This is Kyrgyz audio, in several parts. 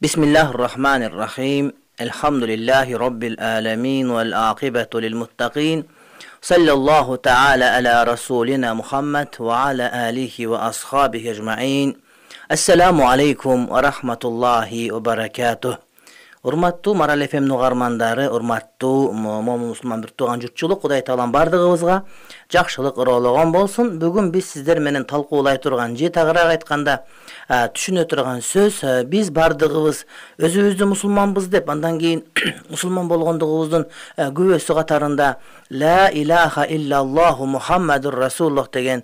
Bismillahirrahmanirrahim. Elhamdülillahi Rabbil alemin vel akibetu lil muttaqin. Sallallahu ta'ala ala Rasulina Muhammed ve ala alihi ve ashabihi ecma'in. Assalamu alaikum ve rahmatullahi ve berekatuh. Урматтуу Марал FM угармандары, урматтуу момун мусулман бир тууган журтчулук, Кудай таалам бардыгыбызга жакшылык ыроологон болсун. Бүгүн биз сиздер менен талкуулай турган же тагыраак айтканда түшүнө турган сөз, биз бардыгыбыз өзүбүздү мусулманбыз деп, андан кийин мусулман болгондугубуздун күбөсү катарында ла илаха иллаллаху Мухаммадур Расулуллах деген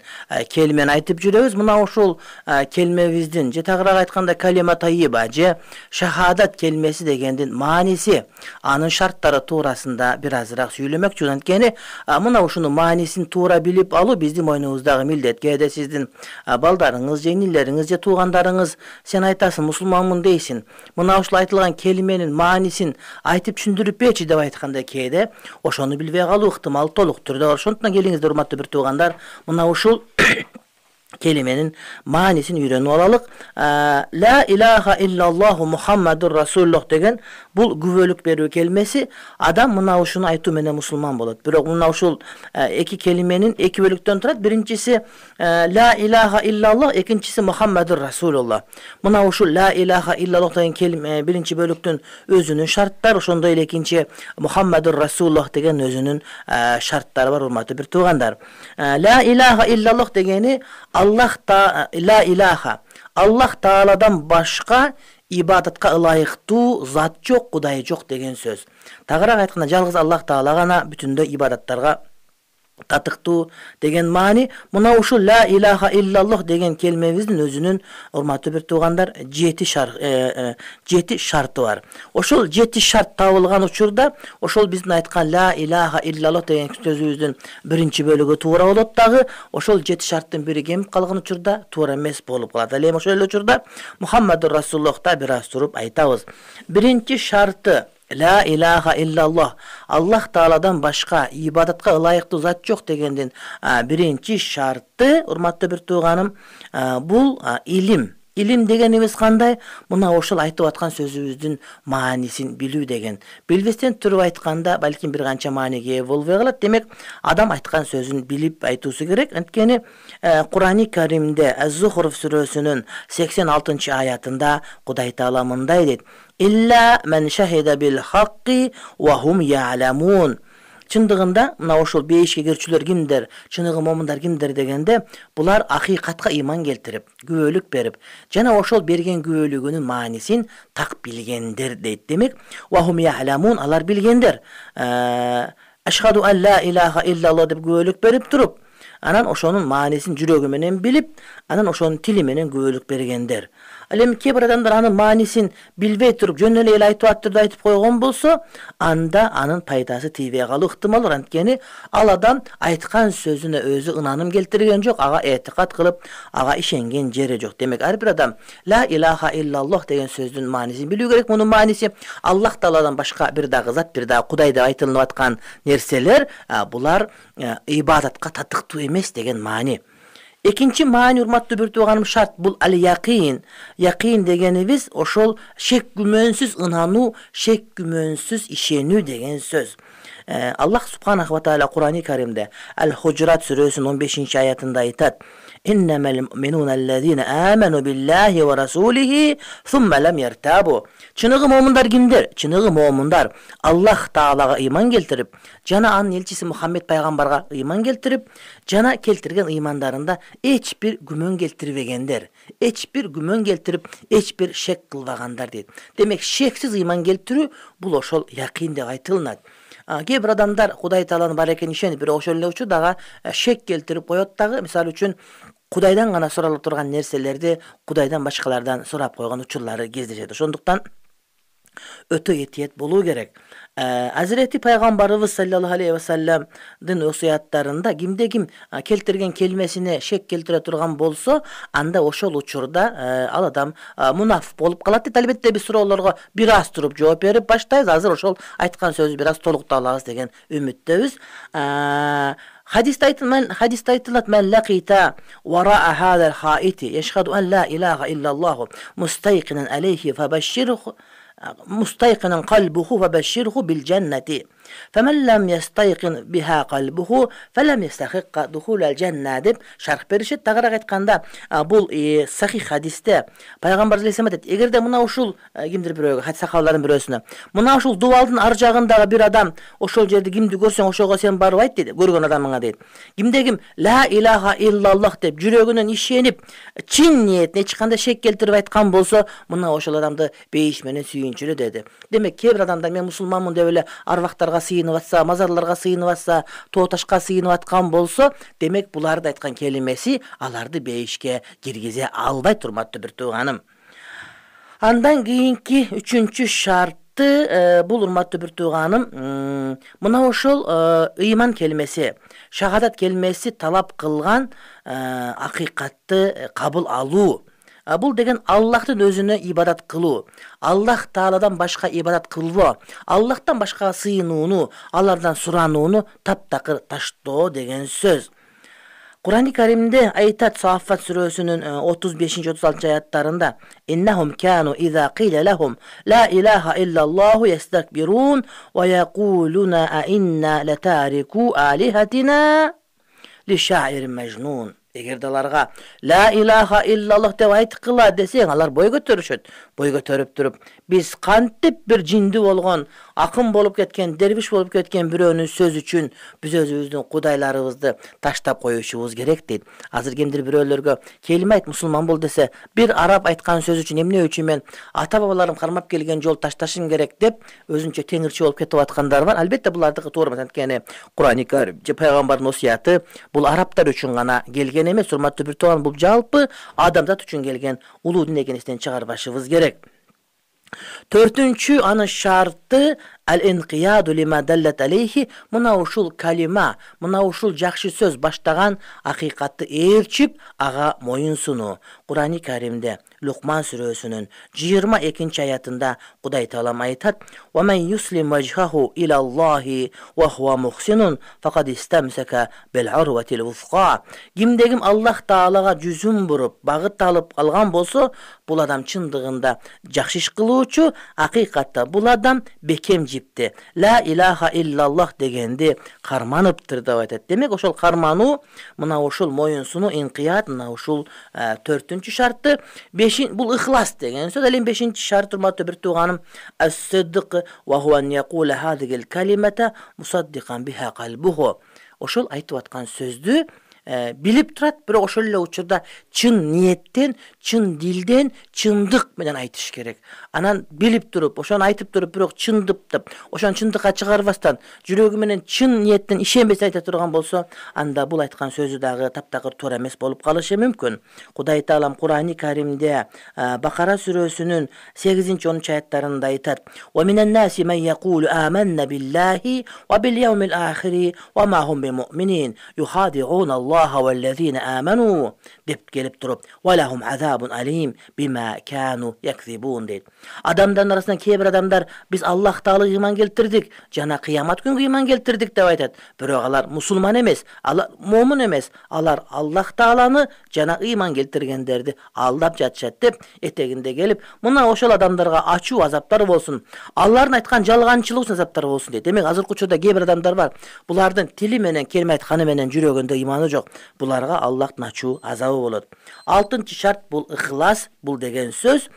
келмени айтып жүрөбүз. Мына ушул келмебиздин же тагыраак айтканда калима тайиба же шахадат келмеси деген мааниси, анын шарттары туурасында бир азыраак сүйлөмөкчүмүн. Анткени мына ушуну маанисин туура билип алуу биздин мойнубуздагы милдет. Кээде сиздин балдарыңыз же инилериңиз же туугандарыңыз сен айтасың мусулманмын дейсин, мына ушул айтылган келменин маанисин айтып түшүндүрүп берчи деп айтканда кээде ошону билбей калуу ыктымал толук түрдө бар. Ошондуктан келиңиздер урматтуу бир туугандар, мына ушул келименин маанисин үйрөнүп алалык. Ла илаха иллаллаху Мухаммадур Расулуллах деген бул күбөлүк берүү келмеси. Адам мына ушуну айтуу менен мусулман болот. Бирок мына ушул эки келименин эки бөлүктөн турат. Биринчиси ла илаха иллаллах, экинчиси Мухаммадур Расулуллах. Мына ушул ла илаха иллаллах деген келиме биринчи бөлүктүн өзүнүн шарттары, ошондой эле экинчи Мухаммадур Расулуллах деген өзүнүн шарттары бар, урматтуу бир туугандар. Ла илаха иллаллах дегени ла илаха, Аллах Тааладан башка ибадатка ылайыктуу зат жок, Кудай жок деген сөз. Тагыраак айтканда жалгыз Аллах Таала гана бүтүндөй ибадаттарга татыктуу деген маани. Мына ушул ла илаха иллаллах деген келмебиздин өзүнүн, урматтуу бир туугандар, 7 шарты бар. Ошол 7 шарт табылган учурда ошол биздин айткан ла илаха иллаллах деген сөзүбүздүн биринчи бөлүгү туура болот дагы. Ошол 7 шарттын бири кемип калган учурда туура эмес болуп калат. Ал эми ошол эле учурда Мухаммадур Расулуллахта бир аз туруп айтабыз. Биринчи шарты ла илаха иллаллах, Аллах Тааладан башка ибадатка ылайыктуу зат жок дегендин биринчи шарты, урматтуу бир тууганым, бул илим. Илим дегенибиз кандай? Мына ошол айтып аткан сөзүбүздүн маанисин билүү деген. Билбестен туруп айтканда балким бир канча мааниге ээ болбой калат. Демек, адам айткан сөзүн билип айтуусу керек. Анткени Курани Каримде Az-Zuhruf сүрөсүнүн 86-аятында Кудай Таала мындай дейт: «Илля мен шахида бил хакки ва хум я'ламун». Чындыгында мына ошол бейишке кирчүлөр кимдер, чыныгы момундар кимдер дегенде, булар акыйкатка иман келтирип, күбөлүк берип, жана ошол берген күбөлүгүнүн маанисин так билгендер дейт. Демек, ва хум я'ламун, алар билгендер. Ашхаду ан ла илаха иллаллах деп күбөлүк берип туруп, анан ошонун маанисин жүрөгү менен билип, анан ошонун тили менен күбөлүк бергендер. Ал эми кээ бир адамдар анын маанисин билбей туруп жөн эле айтып түрдө айтып койгон болсо, анда анын пайдасы тийбей калуу ыктымал бар. Анткени ал адам айткан сөзүнө өзү ынаным келтирген жок, ага этикат кылып, ага ишенген жери жок. Демек, ар бир адам ла илаха иллаллах деген сөздүн маанисин билүү керек. Мунун мааниси Аллах Тааладан башка бир дагы зат, бир дагы Кудай деп айтылып аткан нерселер, булар ибадатка татыктуу эмес деген маани. Экинчи маани, урматтуу бир тууганым, шарт бул ал-яқин. Яқин дегенибиз ошол шек күмөнсүз ынануу, шек күмөнсүз ишенүү деген сөз. Аллах Субханаху ва Таала Курани Каримде Ал-Худжурат сүрөсүнүн 15-аятында айтат: «Иннамал муъминуна аллазина аману биллахи ва расулихи сумма лам яртабу». Чыныгы момундар кимдер? Чыныгы момундар Аллах Таалага ыйман келтирип, жана анын элчиси Мухаммед пайгамбарга ыйман келтирип, жана келтирген ыймандарында эч бир күмөн келтирбегендер. Эч бир күмөн келтирип, эч бир шек кылбагандар дейт. Демек, шексиз ыйман келтирүү бул ошол яқин деп айтылат. Кээ бир адамдар Кудай Тааланын бар экенин ишенип, бирок ошол эле учурда шек келтирип коет дагы. Мисалы үчүн, Кудайдан гана суралып турган нерселерди Кудайдан башкалардан сурап койгон учурлары кездешет. Ошондуктан өтө этиет болуу керек. Азирети пайгамбарыбыз саллаллаху алейхи ва салламдын осуяттарында кимде ким келтирген келмесине шек келтире турган болсо, анда ошол учурда ал адам мунаф болуп калат дейт. Албетте биз суроолорго бир аз туруп жооп берип баштайбыз. Азыр ошол айткан сөзү бир аз толуктап алабыз деген үмүттөбүз. Hadiste aytılат men laqita wara'a hadal haiti yashhadu an la ilaha illallah mustayqinan alayhi fabashshirhu مستيقنا قلبه فبشره بالجنة فمن لم يستيقن بها قلبه فلم يستحق دخول الجنة деп шарх беришет. Тагыраак айтканда бул сахих хадисте пайгамбар алейхиссалам айтат, эгерде мына ушул кимдир бирөөгө, хадис сахабалардын бирөөсүнө, мына ушул дубалдын ар жагындагы бир адам ошол жерде кимди көрсөң ошого сен барып айт дейт, көргөн адамыңа дейт. Кимде ким ла илаха иллаллах деп жүрөгүнөн ишенип, чын ниетине эч кандай шек келтирип айткан болсо, мына ошол адамды бейиш менен сүйүнчүлө деди. Демек, кээ бир адамдар мен мусулманмын деп эле арвактарга сыйынып атса, мазарларга сыйынып атса, тоо ташка сыйынып аткан болсо, демек буларды айткан келимеси аларды бейишке киргизе албайт, урматтуу бир тууганым. Андан кийинки үчүнчү шарты бул, урматтуу бир тууганым, мына ошол ыйман келмеси, шахадат келмеси талап кылган акыйкатты кабыл алуу. Бул деген Аллахтын өзүнө ибадат кылуу, Аллах Тааладан башка ибадат кылбоо, Аллахтан башка сыйынууну, алардан суранууну таптакыр таштоо деген сөз. Кур'ан-ы Каримде айтат, Сааффат сүрөсүнүн 35-36 аяттарында: "Иннахум кану иза киля лахум ла илаха иллаллаху ястакбирун ва якулуна а инна латарику алихатина ли шаирин мажнун." Эгерде аларга ла илаха иллаллах деп айткыла десең, алар бой көтөрүшөт. Бой көтөрүп туруп, биз кантип бир жинди болгон, акын болуп кеткен, дервиш болуп кеткен бирөөнүн сөзү үчүн биз өзүбүздүн кудайларыбызды таштап коюшубуз керек дейт. Азыр кимдир бирөөлөргө келиме айт, мусулман бол десе, бир араб айткан сөз үчүн эмне үчүн мен ата бабаларым кармап келген жол ташташым керек деп өзүнчө теңирчи болуп кетип аткандар бар. Албетте булардыкы туура эмес, анткени Кур'ан-ы Карим же пайгамбардын осуяты бул арабтар үчүн гана келген эмес, урматтуу бир тууган, бул жалпы адамзат үчүн келген улуу дин экенин эстен чыгарбашыбыз керек. Төртүнчү анын шарты ал-инқияду лима даллат алейхи, мына ушул калима, мына ушул жакшы сөз баштаган акыйкатты ээрчип, ага моюн сунуу. Кур'ан-ы Каримде Лукман сүрөсүнүн 22 аятында Кудай Таалам айтат: "Ва мен юслим вajhahu илаллахи ва хува мухсинун фақад истамсака бил урватил вусқа." Кимде ким Аллах Таалага жүзүн буруп, багыт алып алган болсо, бул адам чындыгында жакшы иш кылуучу, акыйкатта бул адам бекем жипти. Ла илаха иллаллах дегенди карманыптыр деп айтат. Демек, ошол кармануу, мына ушул моюн сунуу, инкият, мына ушул 4-үнчү шарты. Бул ихлас деген сөз. Ал эми 5-чи шарт, урматтуу бир тууганым, ас-сидq ва хува ан якула хадигил калимата мусаддикан биха калбуху. Ошол айтып аткан сөздү билип турат, бирок ошол эле учурда чын ниеттен, чын дилден, чындык менен айтыш керек. Анан билип туруп, ошону айтып туруп, бирок чындыптып, ошону чындыкка чыгарбастан, жүрөгү менен чын ниеттен ишенбестен айта турган болсо, анда бул айткан сөзү дагы таптакыр туура эмес болуп калышы мүмкүн. Кудай Таалам Кур'ан-ы Каримде Бакара сүрөсүнүн 8-10 аяттарында айтат: "Ва минан наси ман якулу аманна биллахи ва бил яумил ахири ва ма хум бимуъминин юхади'уна Аллаха валлазина аману" деп келип туруп, "Ва лахум азабун алим бима кану якзибун" дейт. Адамдардын арасынан кээ бир адамдар биз Аллах Таалага ыйман келтирдик, жана кыямат күнгө ыйман келтирдик деп айтат. Бирок алар мусулман эмес, алар момун эмес, алар Аллах Тааланы жана ыйман келтиргендерди алдап жатышат деп этегинде келип, мына ошол адамдарга ачуу азаптар болсун, алардын айткан жалганчылык үчүн азаптар болсун дейт. Демек, азыркы учурда кээ бир адамдар бар, булардын тили менен келме айтканы менен жүрөгүндө ыйманы жок. Буларга Аллахтын ачуу азабы болот. 6-чы шарт бул ихлас, бул деген сөз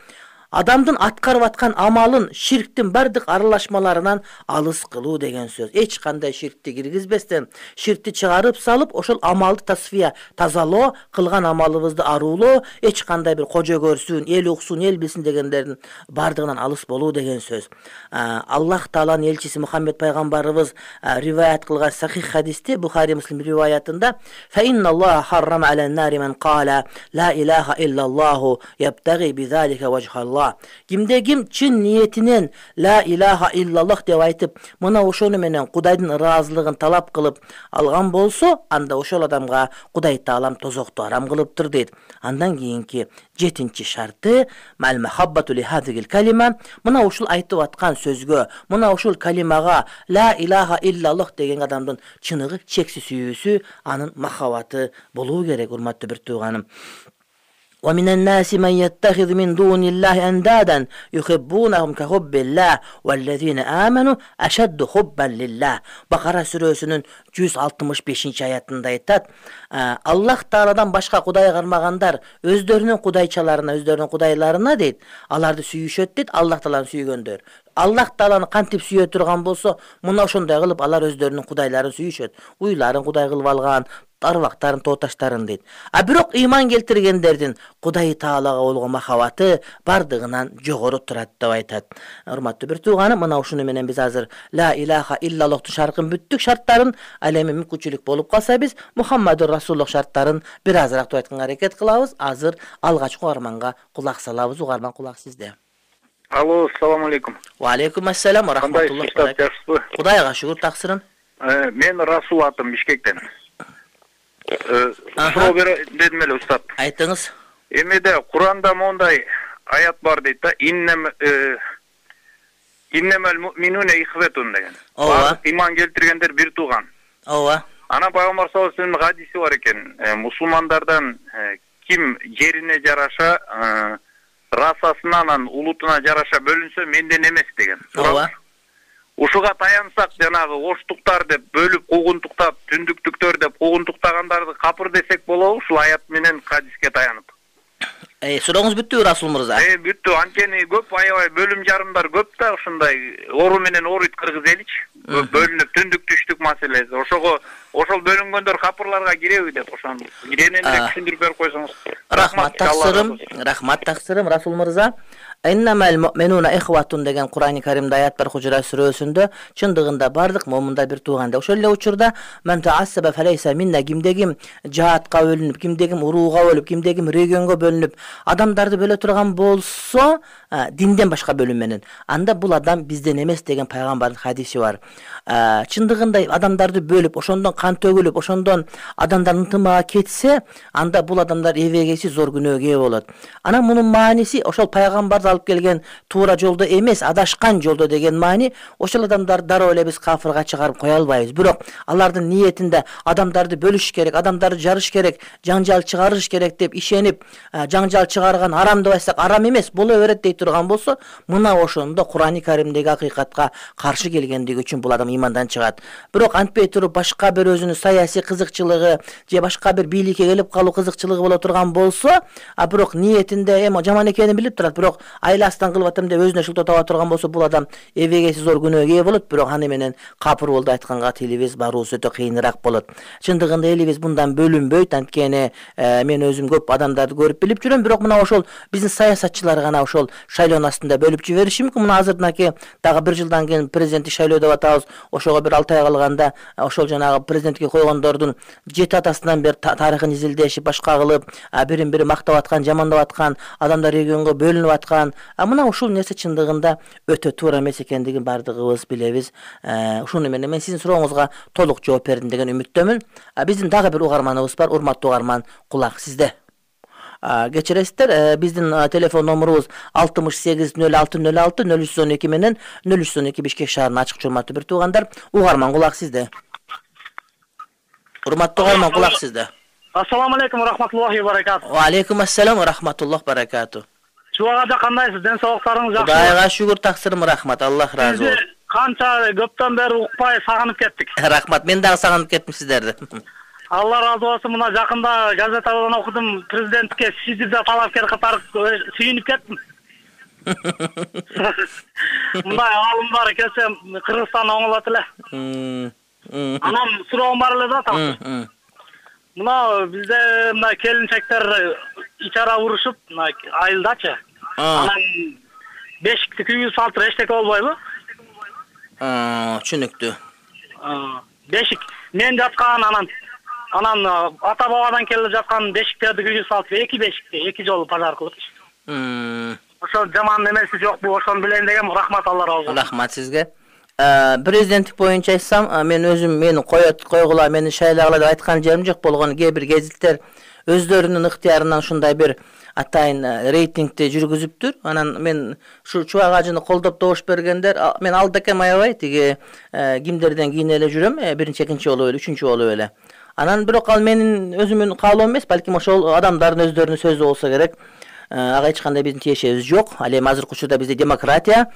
адамдын аткарып аткан амалын ширктин бардык аралашмаларынан алыс кылуу деген сөз. Эч кандай ширкти киргизбестен, ширкти чыгарып салып, ошол амалды тасфия, тазалоо, кылган амалыбызды аруулоо, эч кандай бир кожо көрсүн, эл уксун, эл билсин дегендердин бардыгынан алыс болуу деген сөз. Аллах Тааланын элчиси Мухаммед пайгамбарыбыз риваят кылган сахих хадисте, Бухари Муслим риваятында: "Фа инналлаха харрама алан нари ман кала ла илаха иллаллаху ябтаги бизалика вajhallah ооба. Кимде ким чын ниетинен ла илаха иллаллах деп айтып, мына ошону менен Кудайдын ыраазылыгын талап кылып алган болсо, анда ошол адамга Кудай Таалам тозокту арам кылыптыр дейт. Андан кийинки 7-чи шарты мал махаббату ли хазигил калима, мына ушул айтып аткан сөзгө, мына ушул калимага ла илаха иллаллах деген адамдын чыныгы чексиз сүйүүсү, анын махаббаты болуу керек, урматтуу бир тууганым. ومن الناس من يتخذ من دون الله أندادا يحبونهم كحب الله والذين آمنوا أشد حبا لله. Bakara сүрөсүнүн 165-аятында айтат: Аллах Тааладан башка кудай кармагандар өздөрүнүн кудайчаларына, өздөрүнүн кудайларына дейт, аларды сүйүшөт дейт, Аллах Тааланы сүйгөндөр. Аллах Тааланы кантип сүйө турган болсо, мына ошондой кылып алар өздөрүнүн кудайларын сүйүшөт. Уйларын кудай кылып алган, тарбактарын, тооташтарын дейт. А бирок ыйман келтиргендердин Кудай Таалага болгон махабаты бардыгынан жогору турат деп айтат. Урматтуу бир тууганым, мына ушуну менен биз азыр ла илаха иллаллахтын шаркын бүттүк, шарттарын, ал эми мүмкүнчүлүк болуп калса биз Мухаммадур Расулуллах шарттарын бир азыраак айтканга аракет кылабыз. Азыр алгачкы угарманга кулак салабыз. Угарман, кулак сизде. Алло, ассаламу алейкум. Ва алейкум ассалам ва рахматуллахи ва баракатух. Кудайга шүгүр, таксырын. Мен Расул атым, Бишкектен. Суроо дедим эле устат. Айтыңыз. Эмеде Куранда мондай аят бар дейт да, иннемел муъминуна ихветун деген. Ооба. Иман келтиргендер бир тууган. Ооба. Ана пайгамбар саллаллаху алейхи вассалам хадиси бар экен. Мусулмандардан ким жерине жараша, расасына, анан улутуна жараша бөлүнсө менден эмес деген. Ооба. Ушуга таянсак, жанагы оштуктар деп бөлүп куугунтуктап, түндүктүктөр деп куугунтуктагандарды капыр десек болобу, ушул аят менен хадиске таянып. Сурооңуз бүттүбү, Расул мырза? Бүттү. Анткени көп аябай бөлүм жарымдар көп да, ушундай ору менен оруйт кыргыз эличи. Бөлүнүп түндүк түштүк маселеси. Ошол бөлүнгөндөр капырларга киреби деп ошону кененирээк түшүндүрүп берип койсоңуз. Рахмат таксырым, Расул мырза. Иннамал муъминуна ихватун деген Кур'ани Каримде аят бар, Хужурат сүрөсүндө. Чындыгында бардык момундар бир тууган. Ошол эле учурда мен таассаба фалайса минна, кимде ким жаатка бөлүнүп, кимде ким урууга бөлүп, кимде ким регионго бөлүнүп, адамдарды бөлө турган болсо, динден башка бөлүм менен, анда бул адам бизден эмес деген пайгамбардын хадиси бар. Чындыгында адамдарды бөлүп, ошондон кан төгүлүп, ошондон адамдар ынтымага кетсе, анда бул адамдар эбегейсиз зор күнөөгө ээ болот. Анан мунун мааниси ошол пайгамбар алып келген туура жолдо эмес, адашкан жолдо деген маани. Ошол адамдар дароо эле биз кафырга чыгарып кое албайбыз. Бирок алардын ниетинде адамдарды бөлүш керек, адамдарды жарыш керек, жаңжал чыгарыш керек деп ишенип, жаңжал чыгарган арам деп айтсак арам эмес, боло берет дей турган болсо, мына ошондо Кур'ани Каримдеги акыйкатка каршы келгендиги үчүн бул адам имандан чыгат. Бирок антпей туруп башка бир өзүнүн саясий кызыкчылыгы же башка бир бийликке келип калуу кызыкчылыгы боло турган болсо, бирок ниетинде жаман экенин билип турат, бирок айласынан кылып атам деп өзүнө шылтоо таба турган болсо, бул адам эбегейсиз зор күнөөгө ээ болот. Бирок аны менен капыр болду айтканга тилибиз баруусу өтө кыйыныраак болот. Чындыгында элибиз мындан бөлүнбөйт, анткени мен өзүм көп адамдарды көрүп билип жүрөм, бирок мына ошол биздин саясатчылар гана ошол шайлоонун астында бөлүп жибериши мүмкүн. Мына азырдынаки дагы бир жылдан кийин президенттик шайлоо деп атабыз. Ошого бир 6 ай калганда ошол жанагы президенттикке койгондордун 7 атасынан бери тарыхын изилдешип, башка кылып, бирин бири мактап аткан, жамандап аткан, адамдар регионго бөлүнүп аткан. Мына ушул нерсе чындыгында өтө туура эмес экендигин бардыгыбыз билебиз. Ушуну менен мен сиздин сурооңузга толук жооп бердим деген үмүттөмүн. Биздин дагы бир угарманыбыз бар. Урматтуу угарман, кулак сизде. Кечиресиздер, биздин телефон номурубуз 680606 0312 менен 0312 Бишкек шаарынын ачык урматтуу бир туугандар. Угарман, кулак сизде. Урматтуу угарман, кулак сизде. Ассаламу алейкум ва рахматуллахи ва баракатух. Ва алейкум ассалам ва рахматуллахи ва баракатух. Чубагада кандайсыз? Ден соолуктарыңыз жакшыбы? Кудайга шүгүр, таксырым, рахмат. Аллах разы болсун. Канча көптөн бери укпай сагынып кеттик. Рахмат, мен дагы сагынып кеттим сиздерди. Алла разы болсун. Мына жакында газетадан окудум, президентке Сизирде талапкер катары сүйүнүп кеттим. Мындай алымдар келсе Кыргызстан оңолот эле. Анан суроом бар эле да, такыр. Мына бизде мына келинчектер ичара урушуп, мына айылдачы. Анан бешикти күйүү салтыр эчтеке болбойбу? Түшүнүктүү. Бешик мен жаткан, анан ата бабадан келип жаткан бешиктерди күйүү салтыр, эки бешикти эки жолу пажар кылып. ошо жаман эмеси жокпу, ошону билейин дегем. Рахмат, Алла разы болсун. Рахмат сизге. Президенттик боюнча айтсам, мен өзүм мени койгула, мени шайлагыла деп айткан жерим жок. Болгону кээ бир гезиттер өздөрүнүн ыктыярынан ушундай бир атайын рейтингди жүргүзүптүр. Анан мен ушу Чубак ажыны колдоп добуш бергендер, мен алда экем аябай тиги кимдерден кийин эле жүрөм, биринчи, экинчи болуп эле, үчүнчү болуп эле. Анан бирок ал менин өзүмдүн каалоом эмес, балким ошол адамдардын өздөрүнүн сөзү болсо керек. Ага эч кандай биздин тиешебиз жок. Ал эми азыркы учурда бизде демократия,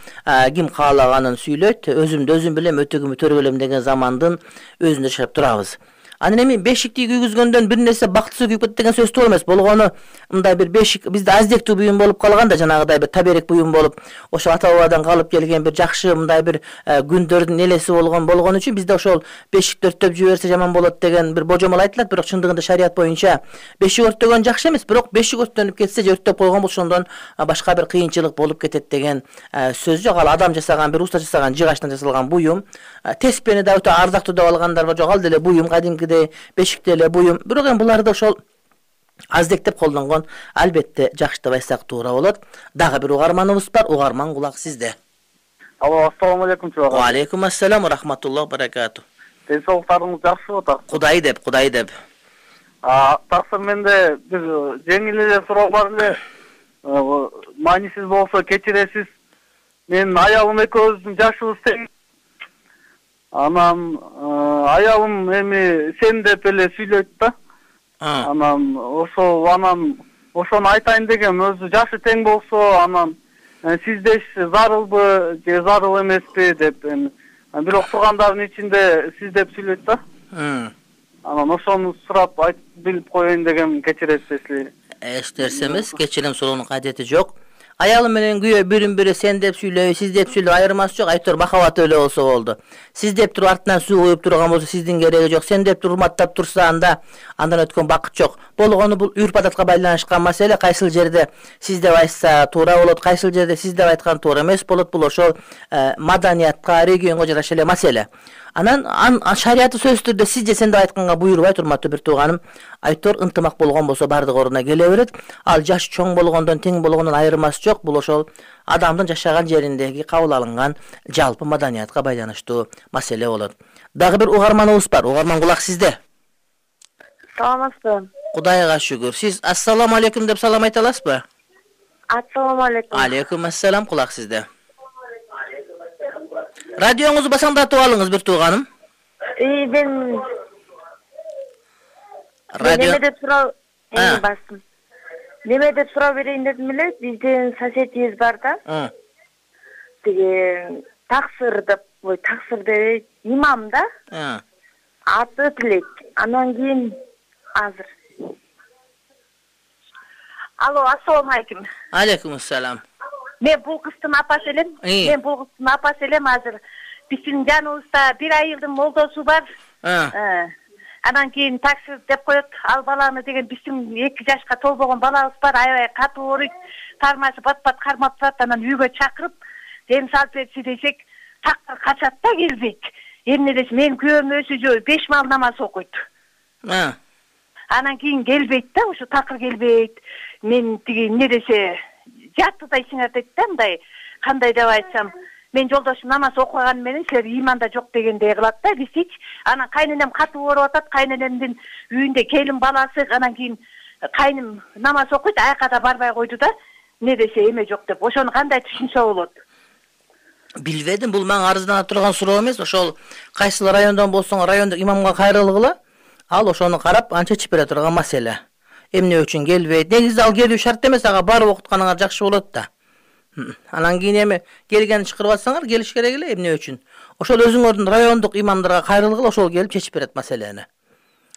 ким каалаганын сүйлөйт, өзүмдү өзүм билем, өтөгүмдү төрөлөм деген замандын өзүндө жашап турабыз. Анан эми бешикти күйгүзгөндөн бир нерсе бактысы күйүп кетти деген сөз туура эмес. Болгону мындай бир бешик бизде аздектүү буюм болуп калган да, жанагыдай бир таберек буюм болуп, ошо ата бабадан калып келген бир жакшы мындай бир күндөрдүн элеси болгон үчүн бизде ошол бешик өрттөп жиберсе жаман болот деген бир божомол айтылат. Бирок чындыгында шарият боюнча бешик өрттөгөн жакшы эмес, бирок бешик өрттөнүп кетсе же өрттөп койгон болсо ошондон башка бир кыйынчылык болуп кетет деген сөз жок. Ал адам жасаган, бир уста жасаган жыгачтан жасалган буюм. Теспени да өтө ардактуу деп алгандар бар, жок, ал деле буюм, кадимкидей бешикте эле буюм. Бирок эми буларды ошол аздектеп колдонгон албетте жакшы деп айтсак туура болот. Дагы бир угарманыбыз бар. Угарман, кулак сизде. Алло, ассаламу алейкум, Чубак. Ва алейкум ассалам ва рахматуллахи ва баракату. Ден соолуктарыңыз жакшыбы, так? Кудай деп. Таксыр, менде бир жеңил эле суроо бар эле. Маанисиз болсо кечиресиз. Мен аялым экөөбүздүн жашыбыз тең. Анан аялым эми сен деп эле сүйлөйт да. Анан ошону айтайын дегем, өзү жашы тең болсо, анан сиздеш зарылбы же зарыл эмеспи деп эми. Бирок тургандардын ичинде сиз деп сүйлөйт да. Анан ошону сурап билип коеюн дегем, кечиресизби? Эч нерсе эмес, кечирим суроонун кадети жок. Аялым менен күйөө бирин-бири сен деп сүйлөй, сиз деп сүйлөй, айырмасы жок. Айтор махабат эле болсо болду. Сиз деп туруп артынан суу куюп турган болсо сиздин кереги жок. Сен деп туруп урматтап турса анда андан өткөн бакыт жок. Болгону бул үрп-адатка байланышкан маселе. Кайсыл жерде сиз деп айтса туура болот, кайсыл жерде сиз деп айткан туура эмес болот. Бул ошол маданиятка, регионго жараша эле маселе. Анан шариятты сөзсүз түрдө сиз же сен деп айтканга буйрубайт, урматтуу бир тууганым. Айтор ынтымак болгон болсо бардык ордуна келе берет. Ал жаш чоң болгондон, тең болгондон айырмасы жок. Бул ошол адамдын жашаган жериндеги кабыл алынган жалпы маданиятка байланыштуу маселе болот. Дагы бир угарманыбыз бар. Угарман, кулак сизде. Саламатсызбы? Кудайга шүгүр. Сиз ассаламу алейкум деп салам айта аласызбы? Ассаламу алейкум. Алейкум ассалам, кулак сизде. Радионузду басаңдатып алыңыз бир тууганым. Мен Радио неме деп суроо бастым. Неме деп суроо берейин дедим эле. Биздин соседибиз бар да. Тиги таксыр деп имам да. Аты Тилек. Анан кийин азыр. Алло, ассаламу алейкум. Алейкум ассалам. Мен бул кыздын апасы элем. Азыр биздин жаныбызда бир айылдын молдосу бар. Анан кийин таксир деп коет. Ал баланы деген биздин 2 жашка толбогон балабыз бар. Аябай катуу ооруйт. Тармасы бат-бат кармап турат. Анан үйгө чакырып, дем салып берчи десек, такыр качат да, келбейт. Эмне десе, мен күйөөм өзү 5 мал намаз окуйт. Анан кийин келбейт да, ушу такыр келбейт. Мен тиги эмне десе, жаттыдай сиңертет да, мындай, кандай деп айтсам, мен жолдошум намаз окуган менен силер иманда жок дегендей кылат да, бизчи. Анан кайненем катуу ооруп атат, кайненемдин үйүндө келин баласы, анан кийин кайным намаз окуйт, аяка да барбай койду да, эмне десе эме жок деп. Ошону кандай түшүнсө болот? Билбедим, бул мага арыздана турган суроо эмес. Ошол кайсыл райондон болсоң, райондук имамга кайрылгыла, ал ошону карап анча чечип бере турган маселе. Эмне үчүн келбейт? Негизи ал келүү шарт эмес, ага барып окутканыңар жакшы болот да. Анан кийин эми келгенин чакырып атсаңар, келиш керек эле, эмне үчүн? Ошол өзүңөрдүн райондук имамдарга кайрылгыла, ошол келип чечип берет маселени.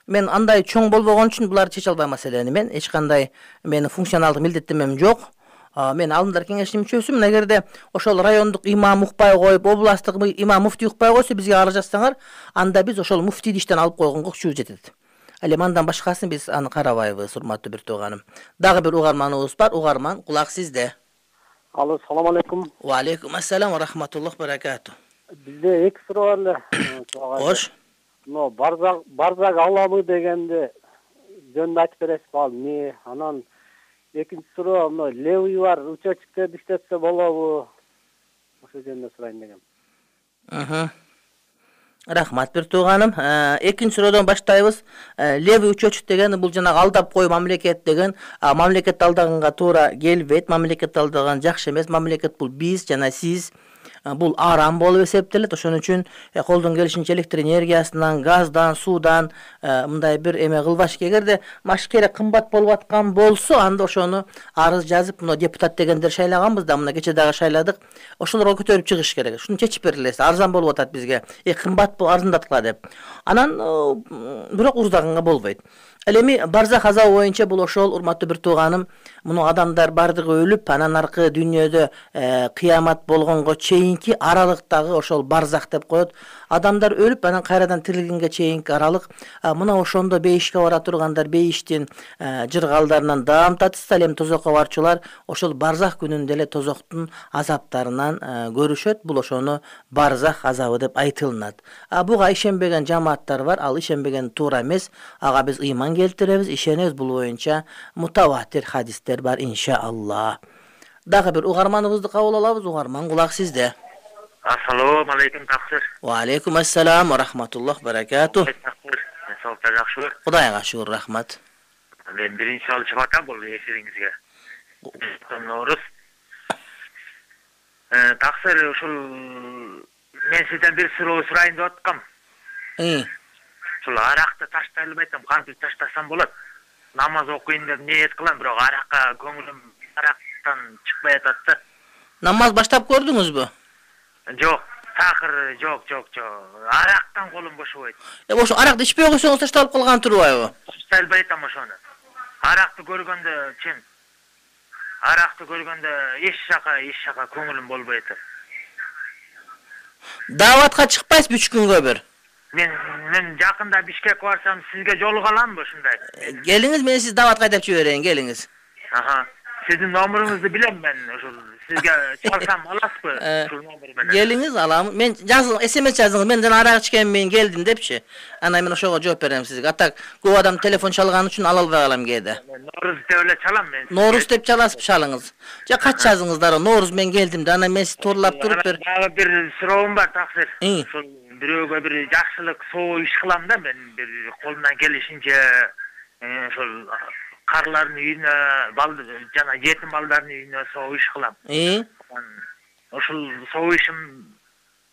Мен андай чоң болбогон үчүн булар чече албайм маселени. Мен эч кандай менин функционалдык милдеттенмем жок. Мен алдындар кеңештин мүчөсүмүн. Эгерде ошол райондук имам укпай коюп, областтык имам муфтий укпай койсо, бизге арыз жазсаңар, анда биз ошол муфтийди иштен алып койгонго күчүбүз жетет. Ал эми андан башкасын биз аны карабайбыз, урматтуу бир тууганым. Дагы бир угарманыбыз бар. Угарман, кулак сизде. Алло, салам алейкум. Ва алейкум ассалам ва рахматуллахи ва баракату. Бизде 2 суроо бар эле. Кош. Но барзак аламы дегенде жөнүндө айтып бересизби ал эмне? Анан экинчи суроо мына левый бар учетчиктерди иштетсе болобу? Ошо жөнүндө сурайын дегем. Рахмат бир тууганым. Экинчи суроодон баштайбыз. Левый учетчик деген бул жанагы алдап кой мамлекет деген. Мамлекет алдаганга туура келбейт. Мамлекет алдаган жакшы эмес. Мамлекет бул биз жана сиз. Бул арам болуп эсептелет. Ошон үчүн колдон келишинче электр энергиясынан, газдан, суудан мындай бир эме кылбаш. Эгерде машкере кымбат болуп аткан болсо, анда ошону арыз жазып, мына депутат дегендер шайлаганбыз да, мына кече дагы шайладык. Ошолорго көтөрүп чыгыш керек. Ушуну чечип берилсе, арзан болуп атат бизге. Кымбат болуп арзандаткыла деп. Анан бирок уруздаганга болбойт. Эми барзах азабы боюнча бул ошол, урматтуу бир тууганым, муну адамдар бардыгы өлүп, анан аркы дүйнөдө кыямат болгонго чейинки аралыктагы ошол барзах деп коет. Адамдар өлүп, анан кайрадан тирилгенге чейинки аралык. Мына ошондо бейишке бара тургандар бейиштин жыргалдарынан даам татышса, эми тозокко барчулар ошол барзах күнүндө эле тозоктун азаптарынан көрүшөт. Бул ошону барзах азабы деп айтылынат. Буга ишенбеген жамааттар бар, ал ишенбеген туура эмес. Ага биз ыйман келтиребиз, ишенебиз, бул боюнча мутаватир хадистер бар, иншаалла. Дагы бир угарманыбызды кабыл алабыз. Угарман, кулак сизде. Ассаламу алейкум, таксир. Ва алейкум ассалам ва рахматуллах баракату. Саулыкта жакшыбы? Кудайга шүгүр, рахмат. Мен биринчи алышып атам бул эфириңизге. Норус. Таксир, ушул мен сизден бир суроо сурайын деп аткам. Ушул аракты таштайлы айтам, кантип таштасам болот? Намаз окуйын деп ниет кылам, бирок аракка көңүлүм арактан чыкпай атат да. Намаз баштап көрдүңүзбү? Жок, такыр жок. Арактан колум бошобойт. Ошо аракты ичпей койсоңуз ташталып калган турбайбы? Ташталбай атам ошону. Аракты көргөндө чын. Аракты көргөндө эч жака көңүлүм болбой атат. Даватка чыкпайсызбы 3 күнгө бир? Мен жакында Бишкекке барсам сизге жолуга аламбы ушундай? Келиңиз, мен сизди даватка айтып жиберейин, келиңиз. Сиздин номериңизди билем мен, ошол сизге чалсам аласызбы ушул номер менен? Келиңиз, алам. Мен жазып, SMS жазыңыз. Мен жана арак ичкенмин, келдим депчи. Анан мен ошого жооп берем сизге. Атак көп адам телефон чалган үчүн ала албай калам кээде. Норус деп эле чалам мен. Норус деп чаласызбы, чалыңыз. Же кач жазыңыз дароо. Норус мен келдим да, анан мен сизди торлап туруп бер. Дагы бир суроом бар, таксир. Ошол бирөөгө бир жакшылык, соо иш кылам да мен, бир колумдан келишинче ошол карлардын үйүнө, жана жетим балдардын үйүнө соо иш кылам. Ошол соо ишим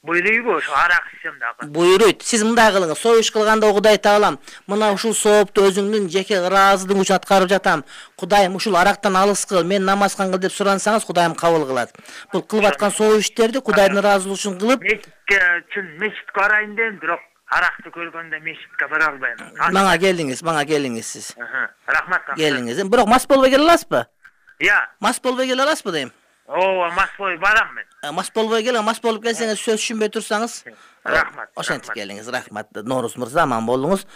буйруйбу, ошо арак ичсем дагы? Буйруйт. Сиз мындай кылыңыз. Соо иш кылганда Кудай Таалам, мына ушул соопту өзүңдүн жеке ыраазылыгың үчүн аткарып жатам. Кудайым ушул арактан алыс кыл, мен намаз кылгыл деп сурансаңыз, Кудайым кабыл кылат. Бул кылып аткан соо иштерди Кудайдын ыраазылыгы үчүн кылып, мечитке барайын дедим, бирок аракты көргөндө мечитке бара албайм. Мага келиңиз сиз. Рахмат. Келиңиз. Бирок мас болбой келе аласызбы? Мас болбой келе аласызбы дейм? Мас болбой барам мен. Мас болбой келиң, мас болуп келсеңиз сөз түшүнбөй турсаңыз. Рахмат. Ошентип келиңиз, рахмат. Норус мырза, аман болуңуз.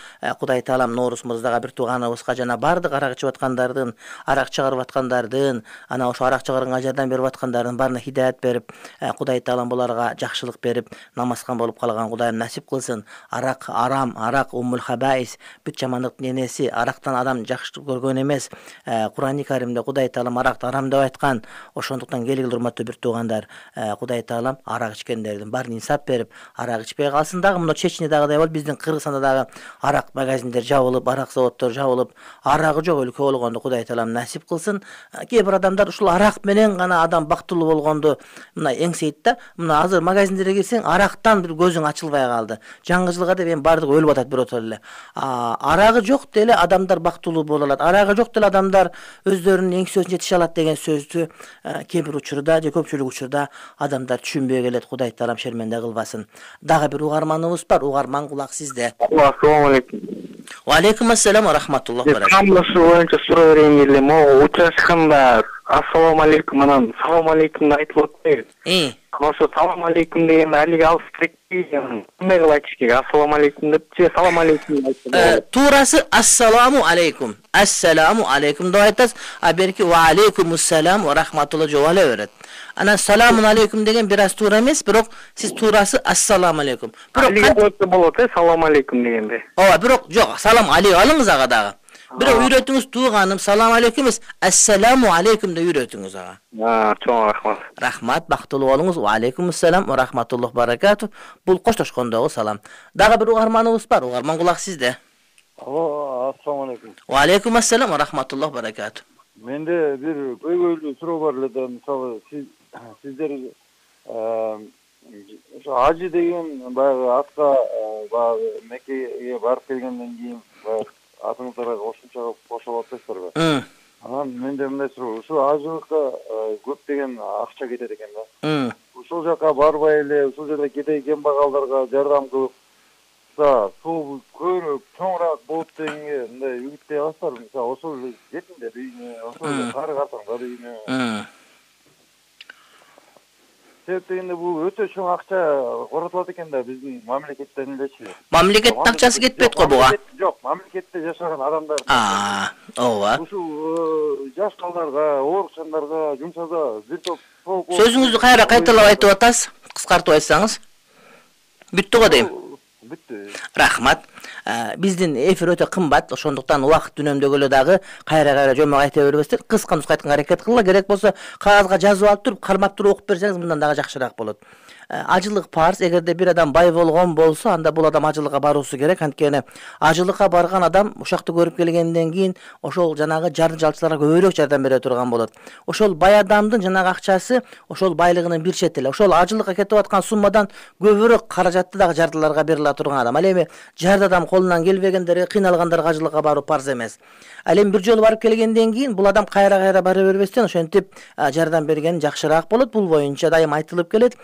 Кудай Таалам Норус мырзага бир тууганыбызга жана бардык арак ичип аткандардын, арак чыгарып аткандардын, анан ошо арак чыгарганга жардам берип аткандардын баарына хидаят берип, Кудай Таалам буларга жакшылык берип, намазкан болуп калган Кудайым насип кылсын. Арак арам, арак уммул хабаис, бүт жамандыктын энеси, арактан адам жакшылык көргөн эмес. Кур'ани Каримде Кудай Таалам аракты арам деп айткан. Ошондуктан келгиле урматтуу бир туугандар, Кудай Таалам арак ичкендердин баарын инсап берип, арак ичпей калсын. Дагы мына Чечнядагыдай болуп, биздин Кыргызстанда дагы арак магазиндер жабылып, арак заводдор жабылып, арагы жок өлкө болгондо Кудай Таалам насип кылсын. Кээ бир адамдар ушул арак менен гана адам бактылуу болгонду мына эңсейт да. Мына азыр магазиндерге кирсең, арактан бир көзүң ачылбай калды. Жаңы жылга деп эми бардыгы өлүп атат биротол эле. Арагы жок деле адамдар бактылуу боло алат. Арагы жок деле адамдар өздөрүнүн эңсөсүн жетише алат деген сөздү кээ бир учурда же көпчүлүк учурда адамдар түшүнбөй келет. Кудай Таалам шерменде кылбасын. Дагы бир угарманыбыз бар. Угарман, кулак сизде. Ассаламу алейкум. Ва алейкум ассалам ва рахматуллах баракатух. Камлышы боюнча суроо берейин эле. Могу учашканда ассаламу алейкум анан салам алейкумду айтып атпайбы? Ошо салам алейкум дегенде алиги алып кетпей, кандай кылып айтыш керек? Ассаламу алейкум депчи, салам алейкум айтса. Туурасы ассаламу алейкум. Ассаламу алейкум деп айтасыз, а берки ва алейкумуссалам ва рахматуллах жооп ала берет. Анан саламун алейкум деген бир аз туура эмес, бирок сиз туурасы ассаламу алейкум. Бирок кантип болот, салам алейкум дегенде? Ооба, бирок жок, салам алейкум алыңыз ага дагы. Бирок үйрөтүңүз тууганым, салам алейкум эмес, ассаламу алейкум деп үйрөтүңүз ага. Чоң рахмат. Рахмат, бактылуу болуңуз. Ва алейкум ассалам ва рахматуллахи баракату. Бул коштошкондогу салам. Дагы бир угарманыбыз бар. Угарман кулак сизде. Алло, ассаламу алейкум. Ва алейкум ассалам ва рахматуллахи баракату. Менде бир көйгөйлүү суроо бар эле да, мисалы сиздер ошо ажы деген баягы атка баягы Меккеге барып келгенден кийин баягы атыңыздарга кошумча кошуп атасыздарбы? Анан менде мындай суроо, ушу ажылыкка көптөгөн акча кетет экен да. Ушул жака барбай эле, ушул жерде кедей кембагалдарга жардам кылып, суу көрүп, чоңураак болуп дегенге мындай үгүттөй аласыздарбы? Мисалы, ошол эле жетиңдер үйүнө, ошол эле кары картаңдар үйүнө. Себеп дегенде бул өтө чоң акча коротулат экен да биздин мамлекеттен элечи. Мамлекеттин акчасы кетпейт го буга. Жок, мамлекетте жашаган адамдар. Ооба. Ушул жаш балдарга, оорукчандарга жумшаса бир топ Сөзүңүздү кайра кайталап айтып атасыз? Кыскартып айтсаңыз. Бүттү го дейм. Бүттү. Рахмат. Биздин эфир өтө кымбат, ошондуктан убакыт үнөмдөгөлө дагы кайра жомок айта бербестен кыска нуска айтканга аракет кылгыла. Керек болсо кагазга жазып алып туруп, кармап туруп окуп берсеңиз мындан дагы жакшыраак болот. Ажылык парз. Эгерде бир адам бай болгон болсо, анда бул адам ажылыкка баруусу керек. Анткени ажылыкка барган адам ушакты көрүп келгенден кийин ошол жанагы жарды жалчыларга көбүрөөк жардам бере турган болот. Ошол бай адамдын жанагы акчасы ошол байлыгынын бир чети эле. Ошол ажылыкка кетип аткан суммадан көбүрөөк каражатты дагы жардыларга бериле турган адам. Ал эми жарды адам колунан келбегендерге, кыйналгандарга ажылыкка баруу парз эмес. Ал эми бир жолу барып келгенден кийин бул адам кайра бара бербестен ошентип жардам берген жакшыраак болот. Бул боюнча дайым айтылып келет.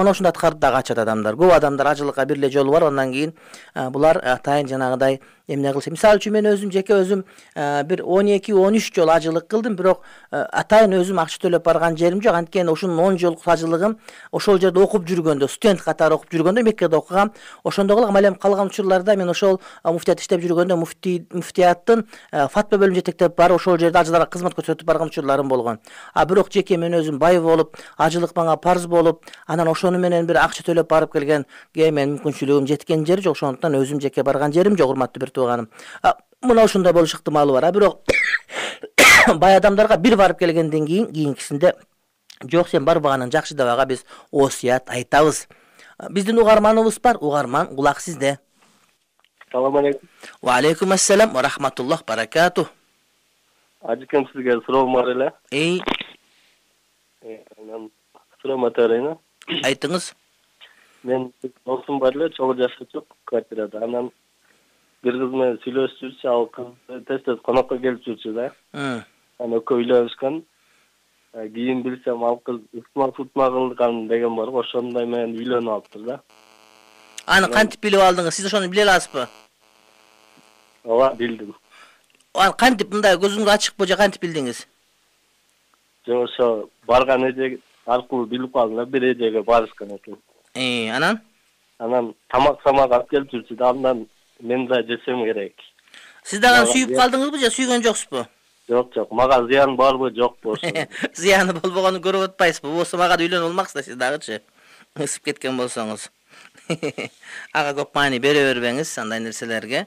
Мына ошондой аткарып дагы ачат адамдар. Көп адамдар ажылыкка бир эле жолу барып, андан кийин булар атайын жанагыдай эмне кылышы. Мисалы үчүн мен жеке өзүм бир 12-13 жолу ажылык кылдым, бирок атайын өзүм акча төлөп барган жерим жок. Анткени ушунун 10 жолдук ажылыгым ошол жерде окуп жүргөндө, студент катары окуп жүргөндө Меккеде окугам. Ошондо кылгам. Ал эми калган учурларда мен ошол муфтият иштеп жүргөндө муфтияттын фатва бөлүмүн жетектеп барып, ошол жерде ажыларга кызмат көрсөтүп барган учурларым болгон. Бирок жеке мен өзүм бай болуп, ажылык мага парз болуп, анан ошону менен бир акча төлөп барып келгенге мен мүмкүнчүлүгүм жеткен жери жок. Ошондуктан өзүм жеке барган жерим жок, урматтуу бир тууганым. Мына ошондой болуш ыктымалы бар. Бирок бай адамдарга бир барып келгенден кийинкисинде жок, сен барбаганың жакшы деп ага биз осуят айтабыз. Биздин угарманыбыз бар. Угарман, кулак сизде. Салам алейкум. Ва алейкум ассалам ва рахматуллахи баракату. Ажыкем сизге суроом бар эле. Анан суроом өтөрөйүн. Айтыңыз. Мен досум бар эле, чогуу жашачу квартирада. Анан бир кыз менен сүйлөшүп жүрчү, ал кыз тез конокко келип жүрчү да. Анан экөө үйлөнүшкөн. Кийин билсем ал кыз ыкма кылган деген бар го, ошондой менен үйлөнүп алыптыр да. Аны кантип билип алдыңыз? Сиз ошону биле аласызбы? Ооба, билдим. Аны кантип, мындай көзүңүз ачыкпы же кантип билдиңиз? Жок, ошо барган эже аркылуу билип калдым да, бир эжеге барышкан экен. Анан тамак алып келип жүрчү да, андан мен да жесем керек. Сиз дагы сүйүп калдыңызбы же сүйгөн жоксузбу? Жок, мага зыян барбы, жокпу ошо. Зыяны болбогонун көрүп атпайсызбы? Болсо мага да үйлөнүп алмаксыз да сиз дагычы. Ысып кеткен болсоңуз. Ага көп маани бере бербеңиз андай нерселерге.